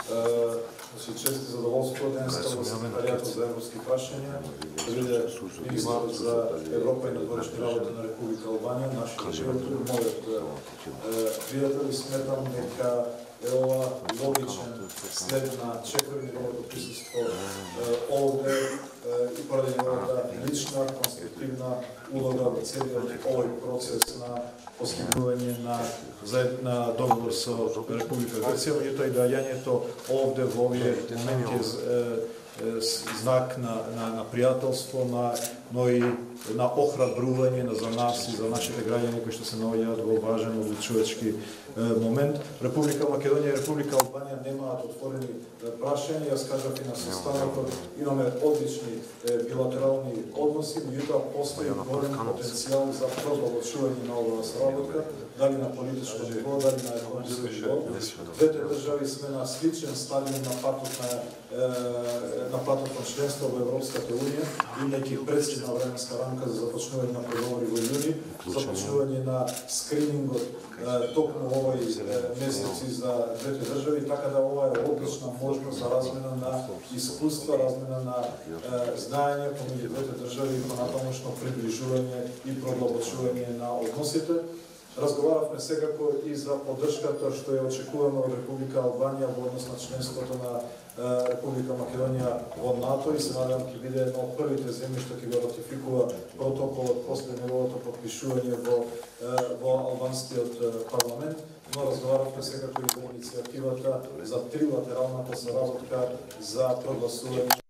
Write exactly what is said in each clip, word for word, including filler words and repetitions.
Значи, чест и задоволство денеска во Секретаријатот за европски прашања да биде министр за Европа и надворешни работи на Република Албанија, нашиот пријател, мојот пријател, и сметам дека е ова логичен след на чекори неговото присуство овде и поради неговата лична, конструктивна улога во целиот овој процес на постигнување на заедна договор со Република Грција, меѓутоа и дајањето овде во овие моменти знак на, на, на пријателство, на, но и на охрабрување на за нас и за нашите граѓани кои што се наоѓаат во важен одлучувачки момент. Република Македонија и Република Албанија немаат отворени прашања. Јас кажав и на состанокот, имаме одлични билатерални односи, меѓутоа постои голем потенцијал за продолжување на оваа соработка, дали на политичко ниво, дали на економско ниво. Двете држави сме на сличен стадиум на патот на на патот на членство во Европската унија, имајќи прецизна временска рамка за започнување на преговори во јуни, започнување на скринингот токму овој месеци за двете држави, така да ова е одлична можност за размена на искуства, размена на знаење помеѓу двете држави и понатамошно приближување и продлабочување на односите. Разговаравме секако и за поддршката што ја очекуваме од Република Албанија во однос на членството на Република Македонија во НАТО и се надевам ќе биде едно од првите земји што ќе го ратификува протоколот после неговото подпишување во во албанскиот парламент, но разговаравме секако и за иницијативата за трилатералната соработка за прогласување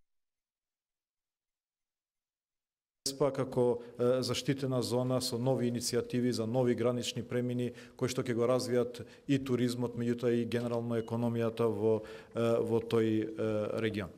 како заштитена зона со нови иницијативи за нови гранични премини кои што ќе го развијат и туризмот, меѓутоа и генерално економијата во во тој регион.